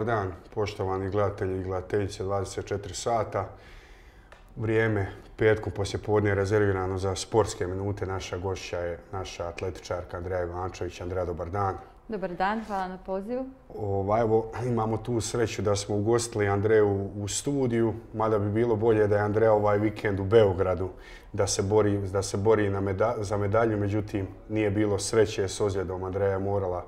dan, poštovani gledatelji i gledateljice 24 sata. Vrijeme petkom poslijepodne je rezervirano za sportske minute. Naša gošća je naša atletičarka Andreja Ivančević. Andreja, dobar dan. Dobar dan, hvala na pozivu. Evo, imamo tu sreću da smo ugostili Andreju u studiju, mada bi bilo bolje da je Andreja ovaj vikend u Beogradu, da se bori za medalju, međutim nije bilo sreće s ozljedom. Andreja je morala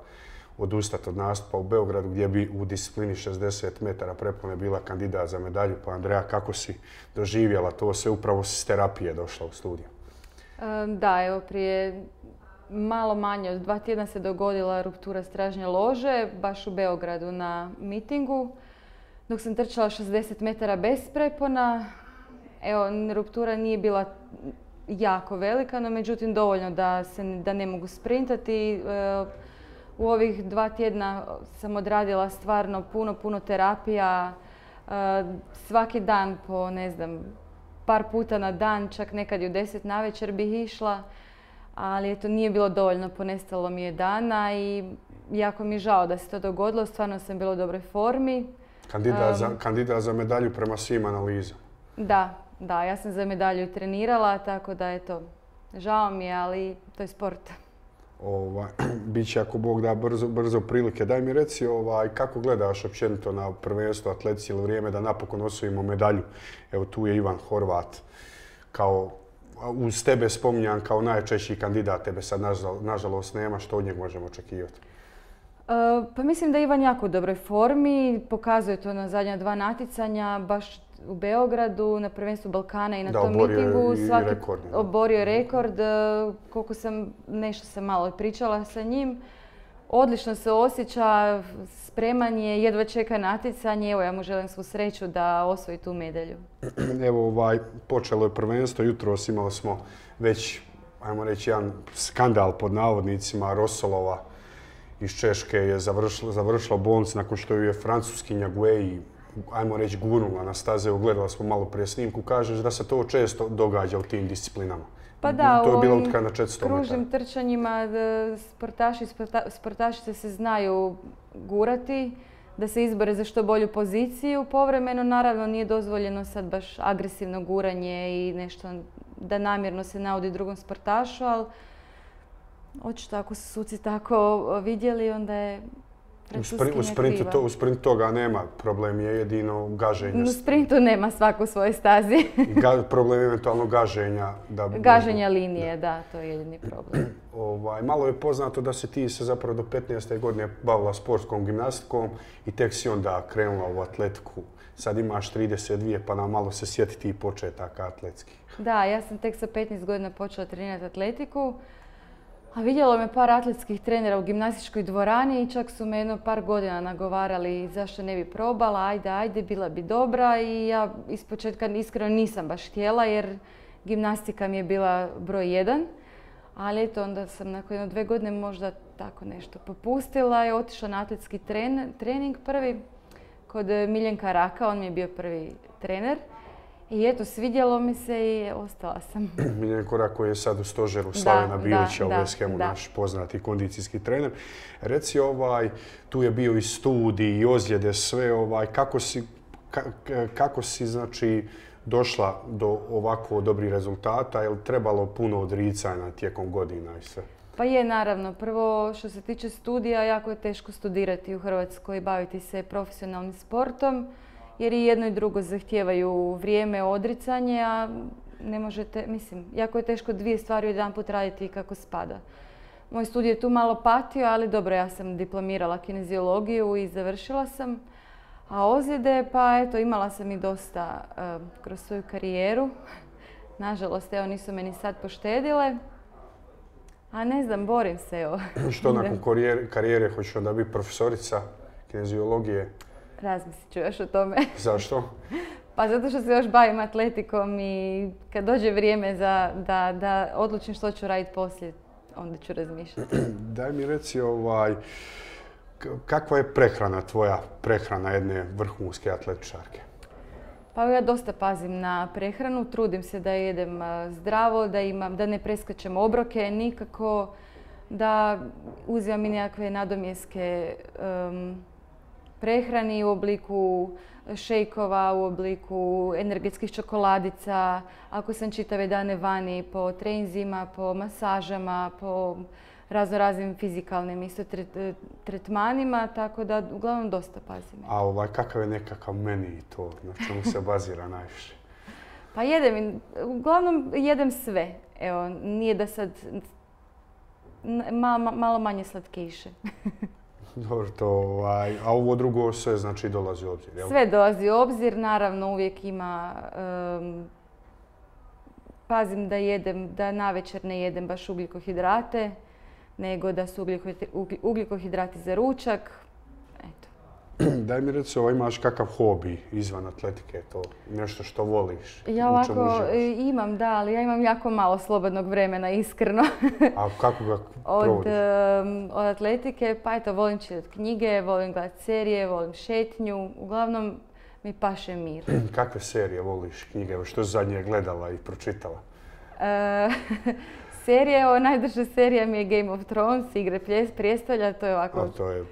odustati od nastupa u Beogradu gdje bi u disciplini 60 metara prepone bila kandidat za medalju. Pa Andreja, kako si doživjela to sve? Upravo si s terapije došla u studiju. Da, evo prije malo manje od 2 tjedna se dogodila ruptura stražnje lože, baš u Beogradu na mitingu. Dok sam trčala 60 metara bez prepona, evo, ruptura nije bila jako velika, no međutim dovoljno da ne mogu sprintati. U ovih 2 tjedna sam odradila stvarno puno terapija. Svaki dan po, ne znam, par puta na dan, čak nekad i u 10 navečer bih išla. Ali eto, nije bilo dovoljno, ponestalo mi je dana i jako mi je žao da se to dogodilo. Stvarno sam bila u dobroj formi. Kandidat za medalju prema svim analizama. Da, ja sam za medalju trenirala, tako da eto, žao mi je, ali to je sport. Biće, ako Bog da, brzo prilike. Daj mi reci kako gledaš općenito na prvenstvo atletici, ili vrijeme da napokon osvojimo medalju. Evo, tu je Ivan Horvat kao uz tebe spominjan kao najčešći kandidat. Tebe sad nažalost nema. Što od njeg možemo očekivati? Pa mislim da je Ivan jako u dobroj formi. Pokazuje to na zadnja 2 natjecanja, baš u Beogradu, na prvenstvu Balkana i na tom mitingu. Oborio je rekord. Koliko sam, nešto sam malo pričala sa njim. Odlično se osjeća, spreman je, jedva čeka natjecanje. Evo, ja mu želim svu sreću da osvoji tu medalju. Evo, počelo je prvenstvo. Jutros imali smo već, ajmo reći, jedan skandal pod navodnicima. Rosolova iz Češke je završila bolnicu nakon što ju je francuskinja Guei, ajmo reći, gurnula na staze. Ugledala smo malo prije snimku. Kažeš da se to često događa u tim disciplinama. Pa da, to je bila u utrka na 400 metara. Kružnim trčanjima sportaši i sportašice se znaju gurati, da se izbore za što bolju poziciju. Povremeno, naravno, nije dozvoljeno sad baš agresivno guranje i nešto da namjerno se naudi drugom sportašu, ali očito ako su suci tako vidjeli, onda je U sprintu toga nema. Problem je jedino gaženje. U sprintu nema svako u svojoj stazi. Problem je eventualno gaženja. Gaženja linije, da, to je jedini problem. Malo je poznato da si ti se zapravo do 15. godine bavila sportskom gimnastikom i tek si onda krenula u atletiku. Sad imaš 32, pa nam malo se sjetiti i početaka atletskih. Da, ja sam tek sa 15 godina počela trenirati atletiku. A vidjelo me par atletskih trenera u gimnastičkoj dvorani i čak su me jedno par godina nagovarali zašto ne bi probala, ajde, bila bi dobra, i ja ispočetka iskreno nisam baš htjela jer gimnastika mi je bila broj 1. Ali eto, onda sam nakon 2 godine možda tako nešto popustila i otišla na atletski trening prvi kod Miljenka Raka, on mi je bio prvi trener. I eto, svidjelo mi se i ostala sam. Miljenko Rak koji je sad u stožeru Slavena Bilića u West-Hamu, naš poznati kondicijski trener. Reci, tu je bio i studij i ozljede, sve, kako si znači došla do ovako dobrih rezultata? Je li trebalo puno odricanja tijekom godina i sve? Pa je, naravno. Prvo, što se tiče studija, jako je teško studirati u Hrvatskoj i baviti se profesionalnim sportom, jer i jedno i drugo zahtijevaju vrijeme, odricanje, a ne možete, mislim, jako je teško 2 stvari jedanput raditi kako spada. Moj studij je tu malo patio, ali dobro, ja sam diplomirala kineziologiju i završila sam. A ozljede, pa eto, imala sam i dosta kroz svoju karijeru. Nažalost, evo, nisu me ni sad poštedile. A ne znam, borim se, evo. Što nakon karijere, hoćeš onda biti profesorica kineziologije? Razmislit ću još o tome. Zašto? Pa zato što se još bavim atletikom i kad dođe vrijeme da odlučim što ću raditi poslije, onda ću razmišljati. Daj mi reci, kakva je tvoja prehrana jedne vrhunske atletičarke? Pa ja dosta pazim na prehranu, trudim se da jedem zdravo, da ne preskačem obroke nikako, da uzimam i nekakve nadomjeske prehrani u obliku šejkova, u obliku energetskih čokoladica. Ako sam čitave dane vani po treninzima, po masažama, po raznim fizikalnim isto tretmanima, tako da uglavnom dosta pazim. A kakav je nekakav meni to, na čemu se bazira najviše? Pa uglavnom jedem sve. Evo, nije da sad malo manje slatkiše. Dobro, a ovo drugo sve znači dolazi u obzir, jel? Sve dolazi u obzir, naravno uvijek ima, pazim da navečer ne jedem baš ugljikohidrate, nego da su ugljikohidrati za ručak. Eto. Daj mi reci, imaš kakav hobi izvan atletike, to nešto što voliš? Ja ovako imam, da, ali ja imam jako malo slobodnog vremena, iskreno. A kako ga provodiš? Od atletike, pa eto, volim čitati knjige, volim gledati serije, volim šetnju, uglavnom mi paše mir. Kakve serije voliš, knjige? Što si zadnje gledala i pročitala? Najduža serija mi je Game of Thrones, Igre prijestolja, to je ovako... To je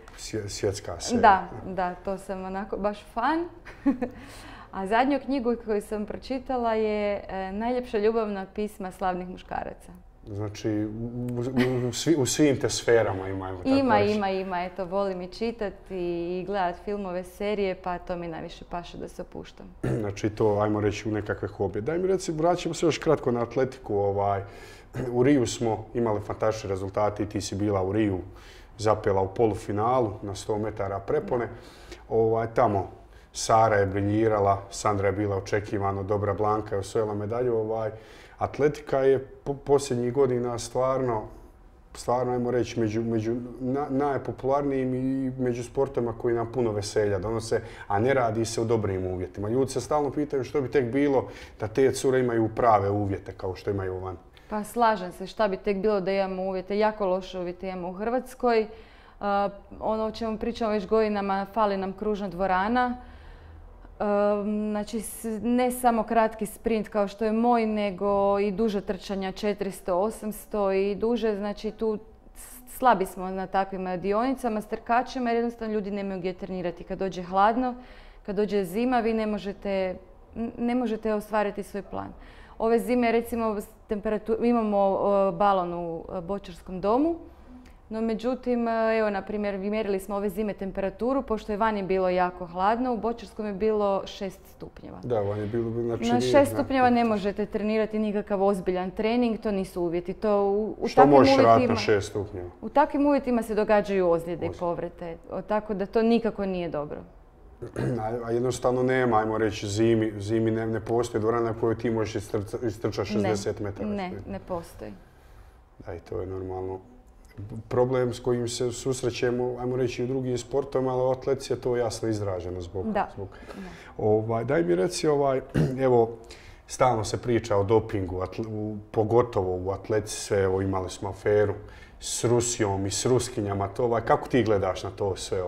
svjetska serija. Da, to sam onako baš fan. A zadnju knjigu koju sam pročitala je Najljepša ljubavna pisma slavnih muškaraca. Znači, u svim te sferama ima. Ima. Eto, volim i čitati i gledati filmove, serije, pa to mi najviše paše da se opuštam. Znači, to, ajmo reći, u nekakve hobije. Daj mi reci, vraćamo se još kratko na atletiku. U Riju smo imali fantastične rezultate i ti si bila u Riju, zapela u polufinalu na 100 metara prepone. Tamo Sara je briljirala, Sandra je bila očekivano dobra, Blanka je osvojila medalju. Atletika je posljednjih godina stvarno, ajmo reći, među najpopularnijim i među sportovima koji nam puno veselja donose, a ne radi se u dobrim uvjetima. Ljudi se stalno pitaju što bi tek bilo da te cure imaju prave uvjete kao što imaju van. Pa slažem se, šta bi tek bilo da imamo uvjete, jako loše uvjete imamo u Hrvatskoj. Ono o čemu pričamo već godinama, fali nam kružna dvorana. Znači, ne samo kratki sprint kao što je moj, nego i duže trčanja 400, 800 i duže. Znači, tu slabi smo na takvim dionicama, s trkačima jer jednostavno ljudi nemaju gdje trenirati. Kad dođe hladno, kad dođe zima, vi ne možete ostvariti svoj plan. Ove zime, recimo, imamo balon u Bočarskom domu, no međutim, evo, na primjer, mjerili smo ove zime temperaturu, pošto je vani bilo jako hladno, u Bočarskom je bilo 6 stupnjeva. Da, vani je bilo... Znači, na 6 stupnjeva ne možete trenirati nikakav ozbiljan trening, to nisu uvjeti. Što možeš raditi na 6 stupnjeva? U takvim uvjetima se događaju ozljede i povrede, tako da to nikako nije dobro. A jednostavno nema, ajmo reći, zimi ne postoji dvorana koju ti možeš istrčati 60 metara. Ne postoji. Da, i to je normalno. Problem s kojim se susrećemo, ajmo reći, i u drugim sportovima, ali u atletici je to jasno izraženo zbog... Daj mi reci, evo, stalno se priča o dopingu, pogotovo u atletici sve, evo, imali smo aferu s Rusijom i s Ruskinjama, kako ti gledaš na to sve,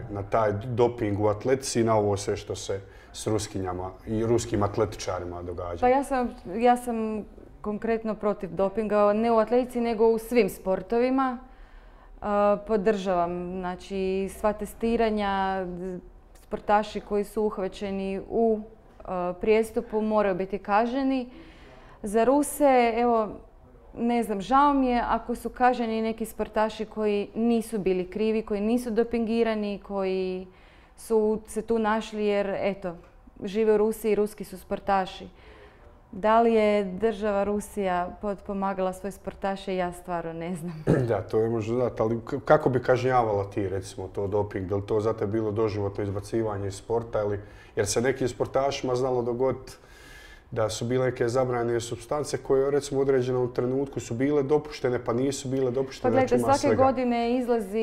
na taj doping u atletici i na ovo sve što se s Ruskinjama i ruskim atletičarima događa? Pa ja sam konkretno protiv dopinga, ne u atletici nego u svim sportovima. Podržavam, znači, sva testiranja, sportaši koji su uhvaćeni u prijestupu moraju biti kažnjeni. Za Ruse, evo, ne znam, žao mi je ako su kažnjeni neki sportaši koji nisu bili krivi, koji nisu dopingirani, koji su se tu našli jer, eto, žive u Rusiji i ruski su sportaši. Da li je država Rusija potpomagala svoje sportaše, ja stvarno ne znam. Da, to je možda znati, ali kako bi kažnjavala ti, recimo, to doping? Je li to za te bilo doživotno izbacivanje iz sporta? Jer se nekim sportašima znalo dogoditi da su bile neke zabranjene supstance koje, recimo, u određenom trenutku su bile dopuštene, pa nisu bile dopuštene. Pa gledajte, svake godine izlazi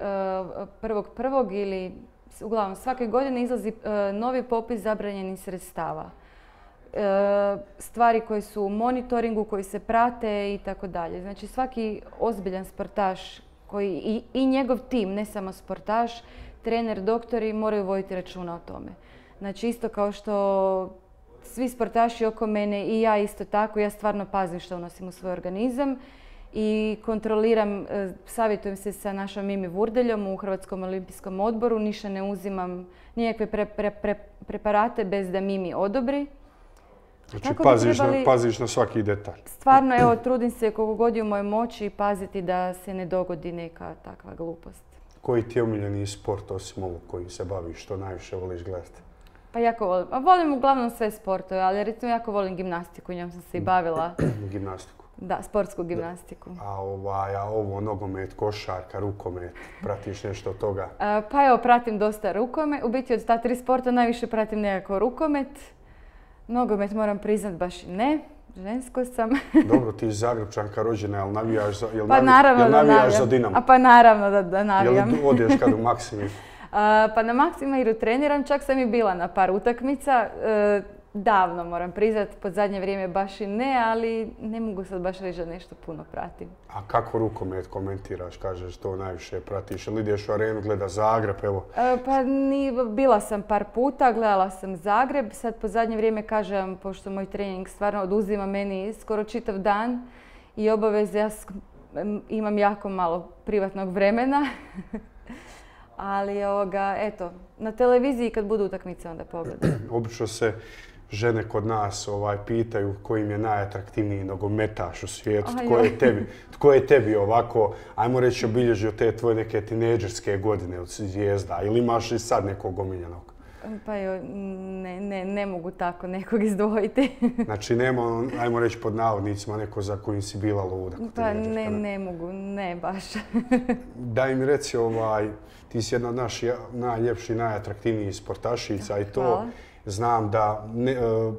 1.1. ili, uglavnom, svake godine izlazi novi popis zabranjenih sredstava. Stvari koje su u monitoringu, koji se prate i tako dalje. Znači, svaki ozbiljan sportaš i njegov tim, ne samo sportaš, trener, doktori moraju voditi računa o tome. Znači, isto kao što svi sportaši oko mene i ja isto tako, ja stvarno pazim što unosim u svoj organizam i kontroliram, savjetujem se sa našom Mimi Vurdeljom u Hrvatskom olimpijskom odboru. Ništa ne uzimam nikakve preparate bez da Mimi odobri. Znači paziš na svaki detalj. Stvarno, evo, trudim se koliko god je u mojoj moći paziti da se ne dogodi neka takva glupost. Koji ti je omiljeni sport osim ovog kojim se baviš, što najviše voliš gledati? Pa jako volim. Volim uglavnom sve sportove, ali recimo jako volim gimnastiku, njom sam se i bavila. Gimnastiku? Da, sportsku gimnastiku. A ovo nogomet, košarka, rukomet, pratiš nešto od toga? Pa evo, pratim dosta rukomet. U biti od ta 3 sporta najviše pratim nekako rukomet. Nogomet moram priznat baš i ne. Žensko sam. Dobro, ti Zagrebčanka rođena, jel navijaš za Dinamo? Pa naravno da navijam. Jel odeš kad u Maksimir? Pa na Maksimiru treniram, čak sam i bila na par utakmica. Davno moram priznat, pod zadnje vrijeme baš i ne, ali ne mogu sad baš reći da nešto puno pratim. A kako rukomet komentiraš, kažeš to najviše pratiš? Ili ideš u arenu, gleda Zagreb, evo? Pa bila sam par puta, gledala sam Zagreb. Sad pod zadnje vrijeme kažem, pošto moj trening stvarno oduzima meni skoro čitav dan i obaveze, ja imam jako malo privatnog vremena. Ali eto, na televiziji kad budu utakmice onda pogledam. Obično se žene kod nas pitaju koji im je najatraktivniji nogometaš u svijetu, tko je tebi ovako, ajmo reći, obilježio te tvoje neke tinejdžerske godine od zvijezda, ili imaš i sad nekog omiljenog? Pa ne mogu tako nekog izdvojiti. Znači nema, ajmo reći pod navodnicima, neko za kojim si bila luda? Pa ne mogu, ne baš. Daj mi reci, ti si jedna od naših najljepših, najatraktivnijih sportašica i to. Hvala. Znam da,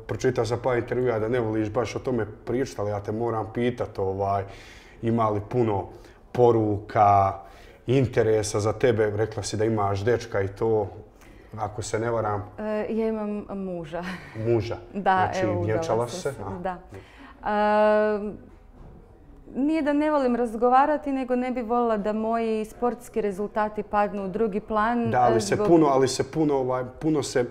pročitao sam par intervjua da ne voliš baš o tome pričati, ali ja te moram pitati, ima li puno poruka, interesa za tebe? Rekla si da imaš dečka i to, ako se ne varam. Ja imam muža. Muža? Da, znači, evo, vjenčala se? Da. Nije da ne volim razgovarati, nego ne bi voljela da moji sportski rezultati padnu u drugi plan. Da, ali se puno se,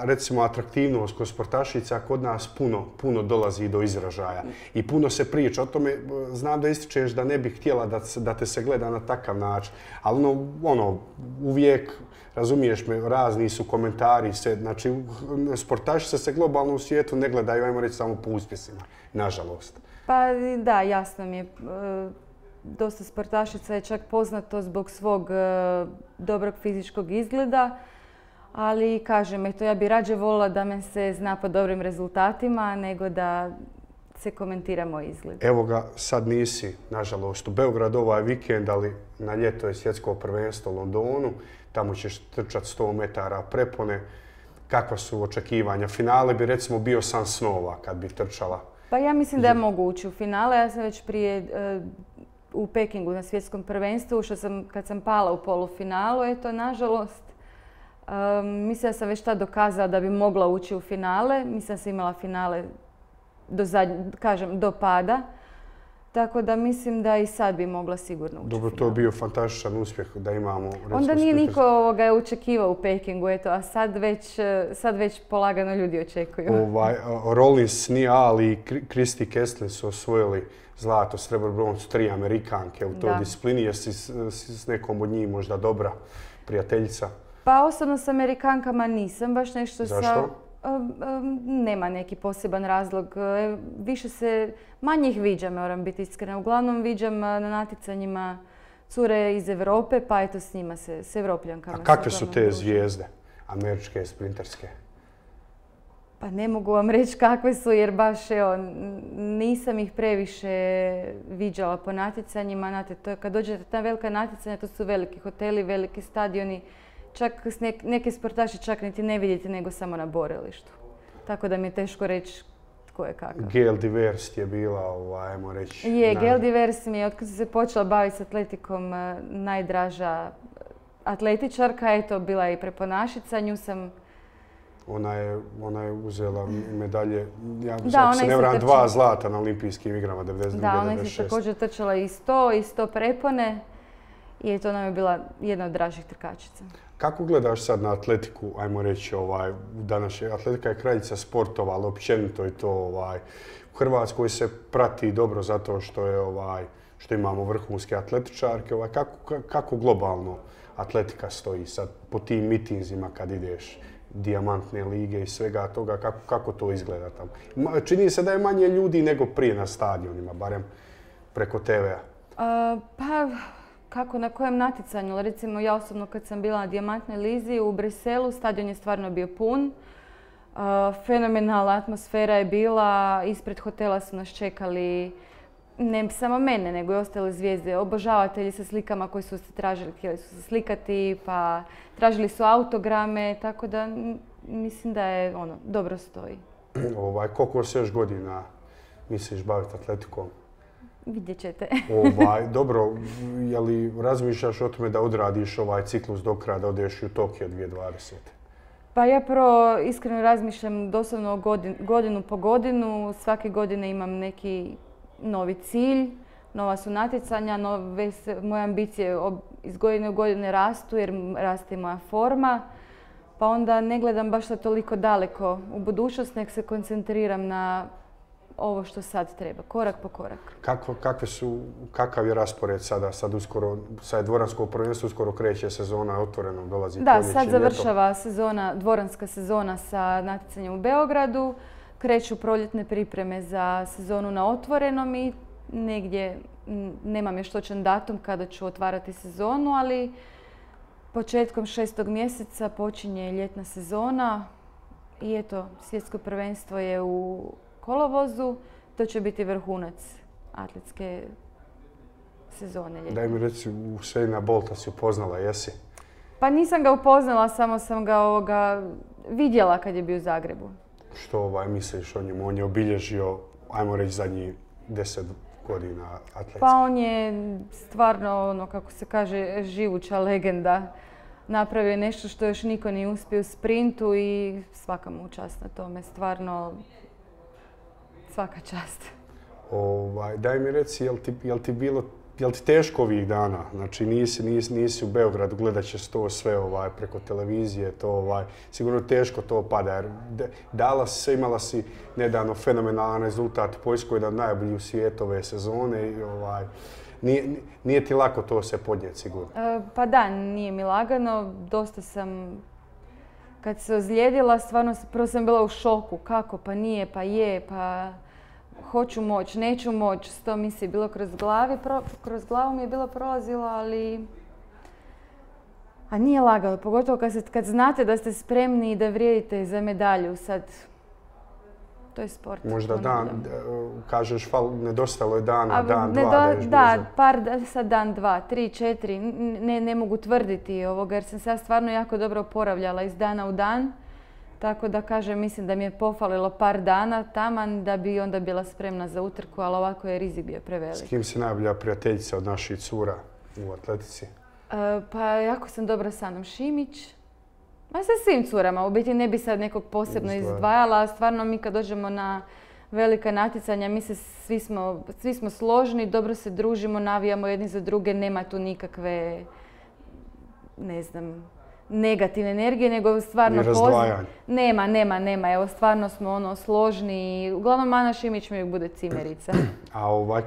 recimo, atraktivnost kod sportašica kod nas puno dolazi do izražaja. I puno se priča o tome. Znam da ističeš da ne bih htjela da te se gleda na takav način. Ali uvijek, razumiješ me, razni su komentari. Znači, sportašice se globalno u svijetu ne gledaju, ajmo reći, samo po uspjesima. Nažalost. Pa da, jasno mi je. Dosta sportašica je čak poznato zbog svog dobrog fizičkog izgleda, ali kažem, ja bi rađe voljela da me se zna po dobrim rezultatima nego da se komentira moj izgled. Evo ga, sad nisi, nažalost, u Beogradu ovaj vikend, ali na ljeto je svjetsko prvenstvo u Londonu. Tamo ćeš trčati 100 metara prepone. Kakva su očekivanja? Finale bi recimo bio san snova kad bi trčala. Pa ja mislim da ja mogu ući u finale. Ja sam već prije u Pekingu na svjetskom prvenstvu, kad sam pala u polufinalu, nažalost. Mislim da sam već tad dokazala da bi mogla ući u finale. Mislim da sam imala finale do pada. Tako da mislim da i sad bi mogla sigurno ući u finale. Dobro, to je bio fantastičan uspjeh da imamo. Onda nije niko očekivao u Pekingu, a sad već polagano ljudi očekuju. Rollins, Nia Ali i Christy Kestlin su osvojili zlato, srebro, broncu, 3 Amerikanke u toj disciplini. Jesi s nekom od njih možda dobra prijateljica? Pa osobno s Amerikankama nisam baš nešto. Zašto? Nema neki poseban razlog. Manje ih viđam, moram biti iskrena. Uglavnom viđam na natjecanjima cure iz Europe, pa s njima s Evropljankama. A kakve su te zvijezde, američke, sprinterske? Pa ne mogu vam reći kakve su, jer baš nisam ih previše viđala po natjecanjima. Kad dođete na velika natjecanja, to su veliki hoteli, veliki stadioni. Čak neke sportaše čak niti ne vidite nego samo na borilištu. Tako da mi je teško reći tko je kakav. Gail Divers je bila, ajmo reći... Gail Divers mi je, otkad sam se počela baviti s atletikom, najdraža atletičarka. Bila je i preponašica, nju sam... Ona je uzela medalje, ako se ne varam, 2 zlata na olimpijskim igrama 1992-1996. Da, ona je također trčala i 100 prepone. I to nam je bila jedna od dražih trkačica. Kako gledaš sad na atletiku, ajmo reći, današnja atletika je kraljica sportova, ali općenito je to u Hrvatskoj se prati dobro zato što je što imamo vrhunske atletičarke. Kako globalno atletika stoji sad po tim mitinzima kad ideš, dijamantne lige i svega toga, kako to izgleda tamo? Čini se da je manje ljudi nego prije na stadionima, barem preko TV-a. Pa, kako na kojem natjecanju? Recimo ja osobno kad sam bila na dijamantnoj lizi u Briselu, stadion je stvarno bio pun. Fenomenalna atmosfera je bila, ispred hotela su nas čekali ne samo mene, nego i ostale zvijezde, obožavatelji sa slikama koji su se tražili, htjeli su se slikati, pa tražili su autograme, tako da mislim da je dobro stoji. Koliko se još godina misliš baviti atletikom? Vidjet ćete. Dobro, je li razmišljaš o tome da odradiš ovaj ciklus do kraja, da odeš u Tokio 2020? Pa ja prvo iskreno razmišljam doslovno godinu po godinu. Svake godine imam neki novi cilj, nova su natjecanja, moje ambicije iz godine u godine rastu jer raste i moja forma. Pa onda ne gledam baš da toliko daleko u budućnost, nek se koncentriram na ovo što sad treba, korak po korak. Kakav je raspored sada? Sad je dvoransko prvenstvo, uskoro kreće sezona, otvoreno dolazi da, proljeće, sad završava dvoranska sezona sa natjecanjem u Beogradu. Kreću proljetne pripreme za sezonu na otvorenom i negdje, nemam još točan datum kada ću otvarati sezonu, ali početkom 6. mjeseca počinje ljetna sezona i eto, svjetsko prvenstvo je u kolovozu. To će biti vrhunac atletske sezone ljetne. Daj mi reci, Usaina Bolta si upoznala, jesi? Pa nisam ga upoznala, samo sam ga vidjela kad je bio u Zagrebu. Što misliš o njemu? On je obilježio, ajmo reći, zadnjih 10 godina atletski. Pa on je stvarno, kako se kaže, živuća legenda. Napravio je nešto što još niko nije uspio u sprintu i svaka mu čast na tome. Stvarno, svaka čast. Daj mi reci, jel ti teško ovih dana? Znači nisi u Beogradu, gledat će to sve preko televizije, sigurno teško to pada. Jer imala si nedavno fenomenalan rezultat u Poljskoj, jedan od najboljih u svijetu ove sezone i nije ti lako to se podnijeti sigurno. Pa da, nije mi lagano. Dosta sam, kad se ozlijedila, stvarno prvo sam bila u šoku. Kako? Pa nije, pa je, pa hoću moć, neću moć. To mi se bilo kroz glavu mi je bilo prolazilo, ali a nije lagano. Pogotovo kad znate da ste spremni i da vrijedite za medalju. Sad, to je sport. Možda kažeš, nedostalo je dan, dva dan, dva, 3, 4. Ne mogu tvrditi jer sam se ja stvarno jako dobro oporavljala iz dana u dan. Tako da kažem, mislim da mi je pofalilo par dana taman da bi onda bila spremna za utrku, ali ovako je rizik bio prevelik. S kim si najbolja prijateljica od naših cura u atletici? Pa jako sam dobra s Anom Šimić. Ma sa svim curama, u biti ne bi sad nekog posebno izdvajala. Stvarno mi kad dođemo na velika natjecanja, mi se svi smo složni, dobro se družimo, navijamo jedni za druge, nema tu nikakve, ne znam, negativne energije, nego stvarno nema. Evo, stvarno smo složni i uglavnom Ana Šimić mi uvijek bude cimerica. A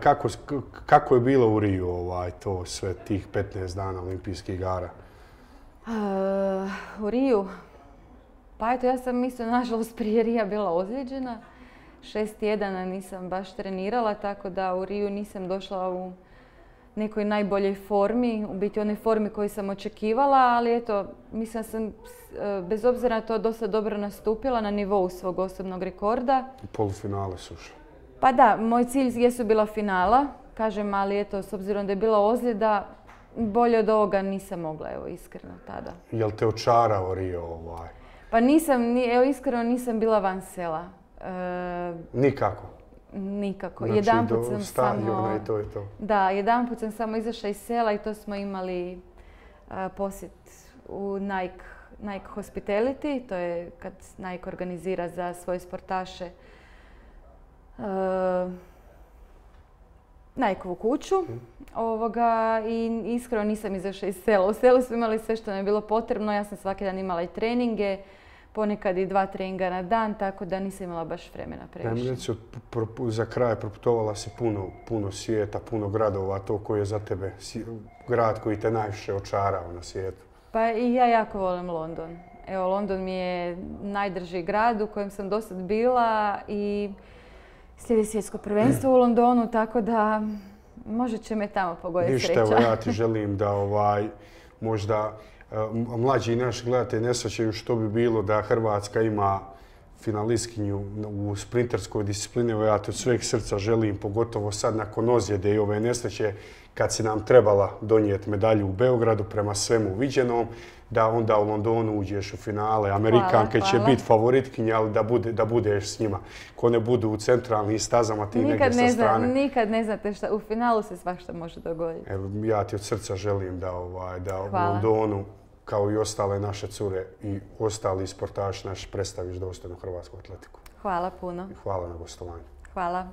kako je bilo u Riju to sve tih 15 dana olimpijskih igara? U Riju? Pa eto, ja sam nažalost prije Rija bila ozlijeđena. 6 tjedana nisam baš trenirala, tako da u Riju nisam došla u nekoj najboljoj formi, u biti onoj formi koju sam očekivala, ali eto, mislim da sam bez obzira na to dosta dobro nastupila na nivou svog osobnog rekorda. U polufinale su ušli. Pa da, moj cilj jesu bila finala, kažem, ali eto, s obzirom da je bila ozljeda, bolje od ovoga nisam mogla, evo, iskreno tada. Jel te očarao Rio Pa iskreno nisam bila van sela. Nikako? Nikako. Znači do stadiona i to je to? Da, jedanput sam samo izašla iz sela i to smo imali posjet u Nike Hospitality. To je kad Nike organizira za svoje sportaše Nikeovu kuću. I iskreno nisam izašla iz sela. U selu smo imali sve što nam je bilo potrebno. Ja sam svaki dan imala i treninge, ponekad i 2 treninga na dan, tako da nisam imala baš vremena previše. Za kraj proputovala si puno svijeta, puno gradova, to koji je za tebe grad koji te najviše očarao na svijetu. Pa i ja jako volim London. Evo, London mi je najdrži grad u kojem sam dosad bila i slijedi svjetsko prvenstvo u Londonu, tako da možda će me tamo pogoditi sreća. Ništa, evo ja ti želim da možda mlađi naši gledatelji ne shvaćaju što bi bilo da Hrvatska ima finalistkinju u sprinterskoj disciplini. Evo ja ti od sveg srca želim, pogotovo sad nakon ozljede i ove nesreće, kad si nam trebala donijeti medalju u Beogradu prema svemu viđenom, da onda u Londonu uđeš u finale. Amerikanke će biti favoritkinje, ali da budeš s njima. Ko ne budu u centralnim stazama, ti negdje sa strane. Nikad ne znate šta, u finalu se svašta može dogoditi. Evo, ja ti od srca želim da u Londonu, kao i ostale naše cure i ostali sportaši naši, predstaviš dostojnu hrvatsku atletiku. Hvala puno. Hvala na gostovanju. Hvala.